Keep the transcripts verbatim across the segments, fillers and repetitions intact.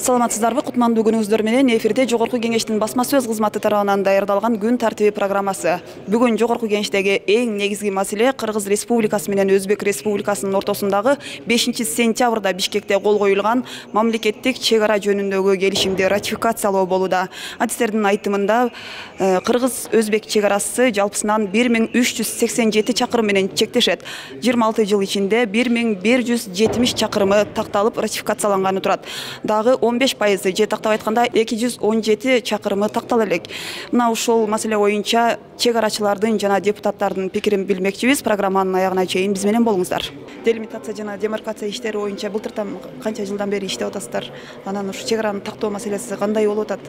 Саламатсыздарбы? Кутмандуу күнүңүздөр менен эфирде Жогорку Кеңештин басма сөз кызматы тарабынан даярдалган күн тартиби программасы. Бүгүн Жогорку Кеңештеги эң негизги маселе Кыргыз Республикасы менен Өзбек Республикасынын ортосундагы бешинчи сентябрда Бишкекте кол коюлган мамлекеттик чек ара жөнүндөгү келишимди ратификациялоо болууда. Адистердин айтымында Кыргыз Өзбек чек арасы жалпысынан бир миң үч жүз сексен жети чакырым менен чектешет. жыйырма алты жыл ичинде бир миң бир жүз жетимиш чакырымы такталып ратификацияланганы турат. Дагы он беш пайызы же тактап айтканда эки жүз он жети чакырымы тактала элек. Мына ушул маселе боюнча чек арачылардын жана депутаттардын пикирин билмекчибиз. Программанын аягына чейин биз менен болуңуздар. Делимитация жана демаркация иштери боюнча былтыртан канча жылдан бери иштеп атасыздар? Анан ушу чек араны тактоо маселеси кандай болуп атат?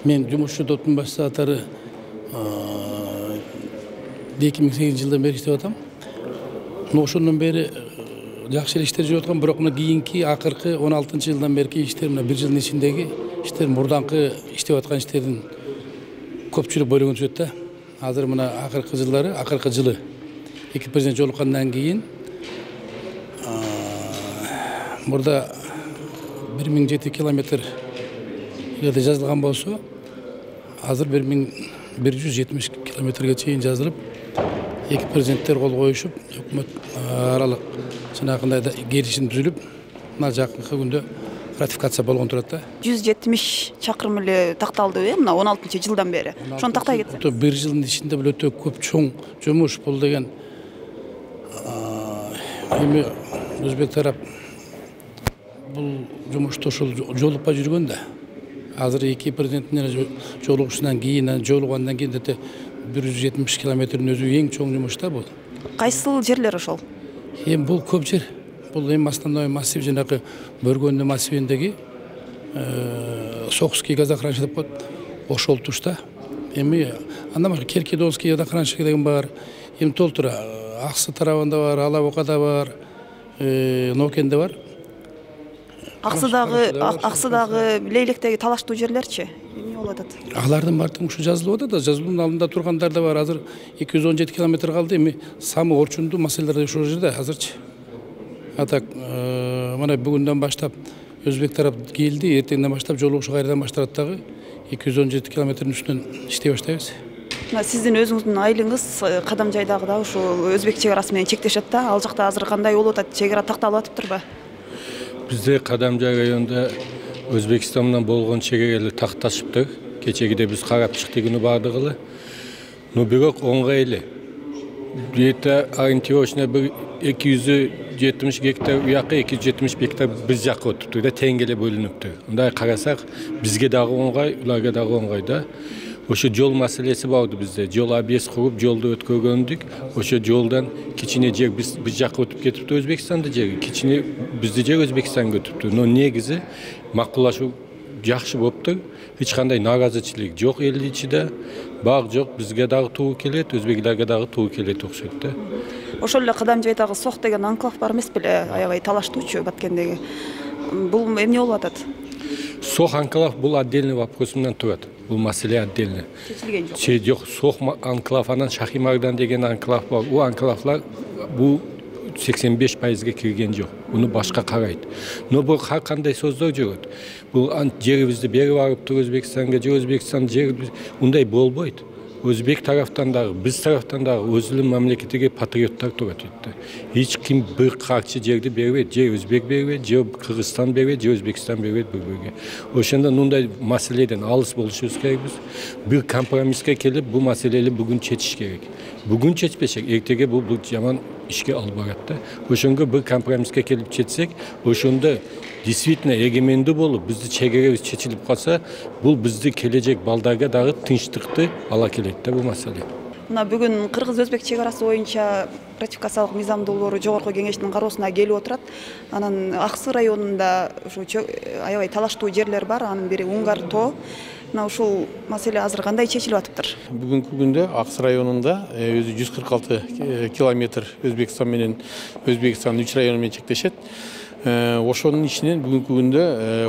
Мен жумушчу топтун башчылары эки миң сегизинчи жылдан бери иштеп атам. Ошондон бери жакшы эле иштер жүрүп аткан, бирок мына кийинки акыркы он алтынчы жылдан берки иштер, мына бир жылдын ичиндеги иштер мурданкы иштеп аткан иштердин көпчүлүк бөлүгүн түзөт да. Азыр мына акыркы жылдары, акыркы жылы эки президент жолуккандан кийин мурда бир миң жети километр жерде жазылган болсо, азыр бир миң бир жүз жетимиш километрге чейин жазылып, эки президенттер кол коюшуп, өкмөт аралык жанагындай да келишим түзүлүп, мына жакынкы күндө ратификация болгон турат да. жүз жетимиш чакырым эле такталды, э, мына он алтынчы жылдан бери. Ошону тактай кетсе. бир жылдын ичинде бул өтө көп чоң жумуш, бул деген эми Өзбек тарап бул жумушта ошол жолукпай жүргөн да. Азыр эки президенттин жолугушунан кийин, жолугандан кийин да бир жүз жетимиш километрдин өзү эң чоң жумуш да бул. Кайсыл жерлер ошол? Эми бул көп жер. Бул эми основной массив жанагы Бөргөндө массивиндеги Сокский газохранилище деп коет. Ошол тушта. Эми андан башка Керкидонский газохранилище деген бар. Эми толтура Аксы тарабында бар, Алабокада бар, Нокенде бар. Аксыдагы Аксыдагы Лейлектеги талаштуу жерлерчи? Эмне болуп атат? Алардын баардыгы ушу жазылып атат да, жазылуунун алдында тургандар да бар. Азыр эки жүз он жети километр калды. Эми самый орчундуу маселелер ошол жерде азырчы. Атак мына бүгүндөн баштап Өзбек тарап келди, эртеңден баштап жолугушу кайрадан башталат дагы. эки жүз он жети километрдин үстүнөн иштей баштайбыз. Мына сиздин өзүңүздүн айылыңыз Кадам жайдагы да ушул Өзбек чек арасы менен чектешет да. Ал жакта азыр кандай болуп атат? Чек ара такталып атыптырбы? Бизде Кадамжай районунда Өзбекстан менен болгон чек аралар такташыптыр. Кечегиде биз карап чыктык күнү бардыгы эле. Но бирок оңгой эле. Где-то ориентировочно бир эки жүз жетимиш гектар уякка, эки жүз жетимиш гектар биз жакка отуптур да, тең эле бөлүнүптүр. Мындай карасак, бизге дагы оңгой, уларга дагы оңгой да. Ошо жол маселеси барды бизде. Жол объезд куруп, жолду өткөргөндүк. Ошо жолдан кичине жер биз биз жакка өтүп кетиптир, Өзбекстанда жери. Кичине бизди жер Өзбекстанга өтүптүр. Но негизи макулдашуу жакшы болуптур. Эч кандай наразычылык жок эл ичинде. Баг жок, бизге дагы туура келет, өзбеклерге дагы туура келет окшойт да. Ошол эле Кадам жайдагы Сох деген анклав бар эмес беле? Аябай талаштуучу Баткендеги. Бул эмне болуп атат? Сох анклав бул отдельный вопрос менен турат. Бул маселе отдельно. Чечилген жок. Че жок, Сох анклав анан Шахимардан деген анклав бар. У анклавлар бул сексен беш пайызга кирген жок. Уну башка карайт. Но бул ар кандай сөздөр жүрөт. Бул жерибизди берип барыптыр Өзбекстанга, же Өзбекстан жер ундай болбойт. Өзбек тараптан дагы, биз тараптан дагы өзүнүн мамлекетиге патриоттор турат өттү. Эч ким бир карчы жерди бербейт, же Өзбек бербейт, же Кыргызстан бербейт, же Өзбекстан бербейт бири-бириге. Ошондон мындай маселеден алыс болушубуз керек биз. Бир компромисске келип, бул маселени бүгүн чечиш керек. Бүгүн чечпесек, эртеге бул бул жаман ишке алып барат да. Ошонго бир компромисске келип чечсек, ошондо действительно эгемендүү болуп, бизди чек арабыз чечилип калса, бул бизди келечек балдарга дагы тынчтыкты ала келет да бул маселе. Мына бүгүн Кыргыз-Өзбек чек арасы боюнча ратификациялык мыйзам долбоору Жогорку Кеңештин кароосуна келип отурат. Анан Аксы районунда ушу аябай талаштуу жерлер бар, анын бири Унгар тоо. Мына ушул маселе азыр кандай чечилип атыптыр? Бүгүнкү күндө Аксы районунда өзү жүз кырк алты километр Өзбекстан менен Өзбекстан үч району менен чектешет. Ошонун ичинен бүгүнкү күндө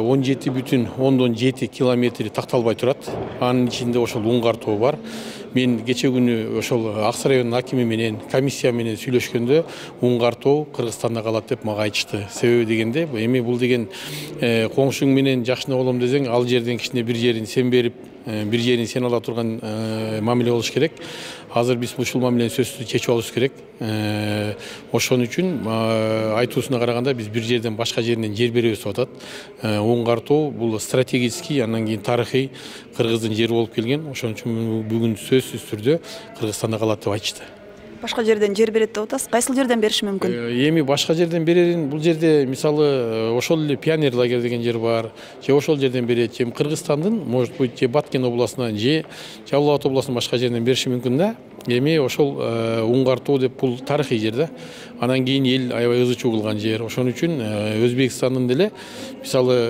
он жети бүтүн ондон жети километри такталбай турат. Анын ичинде ошол Уңгар тоо бар. Мен кече күнү ошол Аксы районунун акими менен, комиссия менен сүйлөшкөндө Уңгар тоо Кыргызстанда калат деп мага айтышты. Себеби дегенде, эми бул деген коңшуң менен жакшына болом десең, ал жерден кичине бир жерин сен берип, бир жерин сен ала турган мамиле болуш керек. Азыр биз ушул мамилени сөзсүз чечип алышыбыз керек. Ошон үчүн айтуусуна караганда биз бир жерден башка жеринен жер беребиз деп атат. Уңгар тоо бул стратегический, андан кийин тарыхый Кыргыздын жери болуп келген. Ошон үчүн бүгүн сөзсүз түрдө Кыргызстанда калат деп айтышты. Башка жерден жер берет деп атасыз. Кайсыл жерден бериши мүмкүн? Эми башка жерден берерин, бул жерде мисалы ошол эле пионер лагерь деген жер бар. Же ошол жерден берет, же Кыргызстандын, может быть, же Баткен областынан, же Жалал Абад областынын башка жеринен бериши мүмкүн да. Эми ошол Уңгар тоо деп бул тарыхый жер да. Анан кийин эл аябай ызы чуу кылган жер. Ошон үчүн Өзбекстандын деле мисалы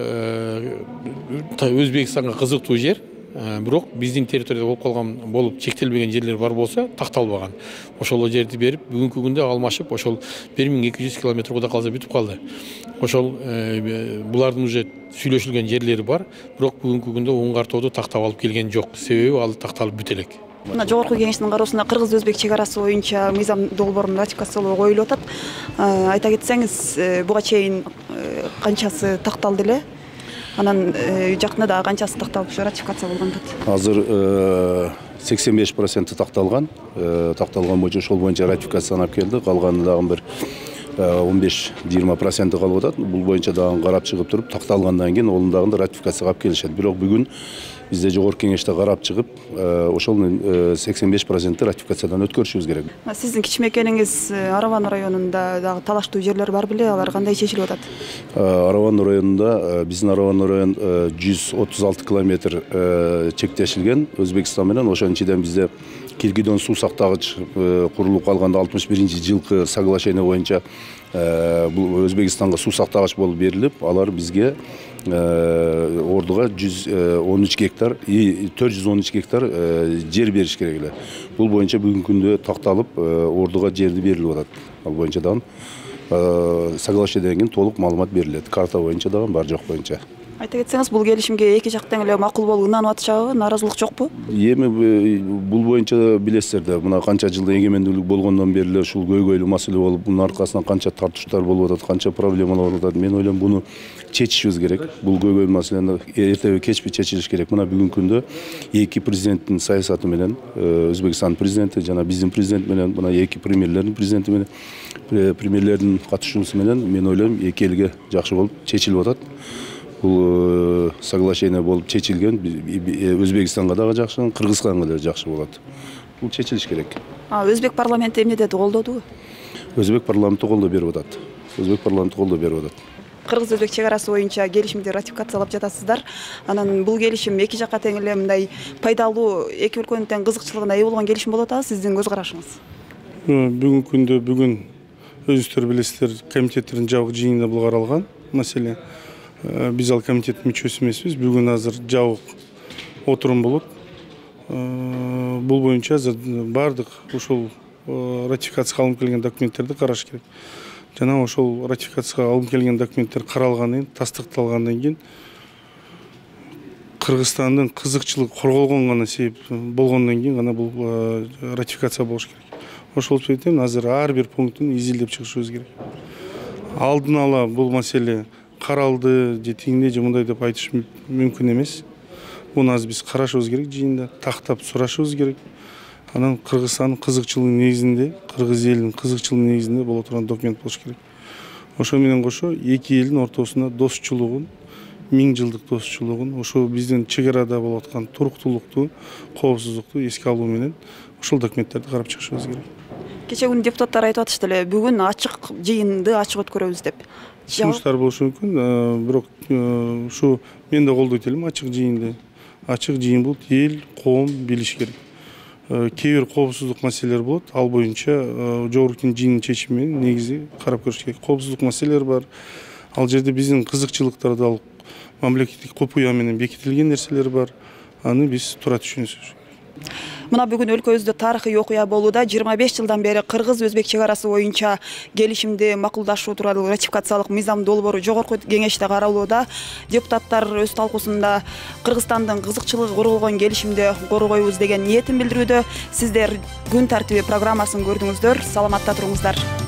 Өзбекстанга кызыктуу жер. Бирок биздин территорияда болуп калган, болуп чектелбеген жерлер бар болсо, такталбаган. Ошол жерди берип, бүгүнкү күндө алмашып, ошол бир миң эки жүз километр куда калса бүтүп калды. Ошол булардын уже сүйлөшүлгөн жерлери бар, бирок бүгүнкү күндө Уңгар тоодо тактап алып келген жок. Себеби ал такталып бүтө элек. Мына жогорку кеңештин кароосуна Кыргыз-Өзбек чек арасы боюнча мыйзам долбоорун ратификациялоо коюлуп атат. Айта кетсеңиз, буга чейин канчасы такталды эле? Анан жакында дагы канчасы такталып ратификация болгон атат? Азыр сексен беш проценти такталган. Такталган боюнча ошол боюнча ратификацияланып келди. Калганы дагы бир он беш жыйырма проценти калып атат. Бул боюнча дагы карап чыгып туруп, такталгандан кийин онун дагы ратификацияга алып келишет. Бирок бүгүн бизде жогорку кеңеште карап чыгып, ошол сексен беш проценти ратификациядан өткөрүшүбүз керек. Сиздин кичимекениңиз Араван районунда дагы талаштуу жерлер бар беле? Алар кандай чечилип атат? Араван районунда, биздин Араван район жүз отуз алты километр чектешилген Өзбекстан менен. Ошонун ичинен бизде Киргидон суу сактагыч курулуп калганда алтымыш биринчи жылкы соглашение боюнча бул Өзбекстанга суу сактагыч болуп берилип, алар бизге ордуга жүз он үч гектар, төрт жүз он үч гектар жер бериш керек эле. Бул боюнча бүгүнкү күндө такталып, ордуга жерди берилип атат. Ал боюнча дагы соглашениеден кийин толук маалымат берилет. Карта боюнча дагы бар жок боюнча. Айта кетсеңиз, бул келишимге эки жактан эле макул болуп ынанып атышабы, нааразылык жокпу? Эми бул боюнча билесиздер да, мына канча жылда эгемендүүлүк болгондон бери эле ушул көйгөйлүү маселе болуп, мунун аркасынан канча тартыштар болуп атат, канча проблемалар болуп атат. Мен ойлойм, буну чечишибиз керек. Бул көйгөйлүү маселени эртеби кечпи чечилиш керек. Мына бүгүнкү күндө эки президенттин саясаты менен, Өзбекстандын президенти жана биздин президент менен, мына эки премьерлердин президенти менен, премьерлердин катышуусу менен, мен ойлойм, эки элге жакшы болуп чечилип атат. Бул соглашение болуп чечилген, Өзбекстанга дагы жакшы, Кыргызстанга да жакшы болот. Бул чечилиш керек. А Өзбек парламенти эмне деди, колдодубу? Өзбек парламенти колдоо берип атат. Өзбек парламенти колдоо берип атат. Кыргыз-Өзбек чек арасы боюнча келишимди ратификациялап жатасыздар. Анан бул келишим эки жакка тең эле мындай пайдалуу, эки өлкөнүн тең кызыкчылыгына ээ болгон келишим болуп атабы, сиздин көз карашыңыз? Бүгүнкү күндө бүгүн өзүңүздөр билесиздер, комитеттердин жабык жыйынында бул каралган маселе. Биз ал комитеттин мүчөсү эмеспиз. Бүгүн азыр жабык отурум болот. Бул боюнча азыр бардык ушул ратификацияга алынып келген документтерди караш керек. Жана ошол ратификацияга алынып келген документтер каралгандан кийин, тастыкталгандан кийин Кыргызстандын кызыкчылыгы корголгон гана себеп болгондон кийин гана бул ратификация болуш керек. Ошол себептен азыр ар бир пунктун изилдеп чыгышыбыз керек. Алдын ала бул маселе каралды, же тигиндей же мындай деп айтыш мүмкүн эмес. Буну азыр биз карашыбыз керек жыйында, тактап сурашыбыз керек. Анан Кыргызстандын кызыкчылыгынын негизинде, кыргыз элинин кызыкчылыгынын негизинде боло турган документ болуш керек. Ошо менен кошо эки элдин ортосунда достчулугун, миң жылдык достчулугун, ошо биздин чек арада болуп аткан туруктуулукту, коопсуздукту эске алуу менен ушул документтерди карап чыгышыбыз керек. Кече күнү депутаттар айтып атышты эле, бүгүн ачык жыйынды ачык өткөрөбүз деп. Сунуштар болушу мүмкүн, бирок ушу мен да колдойт элем ачык жыйынды. Ачык жыйын бул эл, коом билиш керек. Кээ бир коопсуздук маселелер болот, ал боюнча жогорку жыйындын чечими менен негизи карап көрүш керек. Коопсуздук маселелер бар. Ал жерде биздин кызыкчылыктар да мамлекеттик купуя менен бекитилген нерселер бар. Аны биз тура түшүнүшүбүз керек. Мына бүгүн өлкөбүздө тарыхый окуя болууда. жыйырма беш жылдан бери кыргыз-өзбек чек арасы боюнча келишимди макулдашуу тууралуу ратификациялык мыйзам долбоору жогорку кеңеште каралууда. Депутаттар өз талкуусунда Кыргызстандын кызыкчылыгы корголгон келишимди коргойбуз деген ниетин билдирүүдө. Сиздер күн тартиби программасын көрдүңүздөр. Саламатта туруңуздар.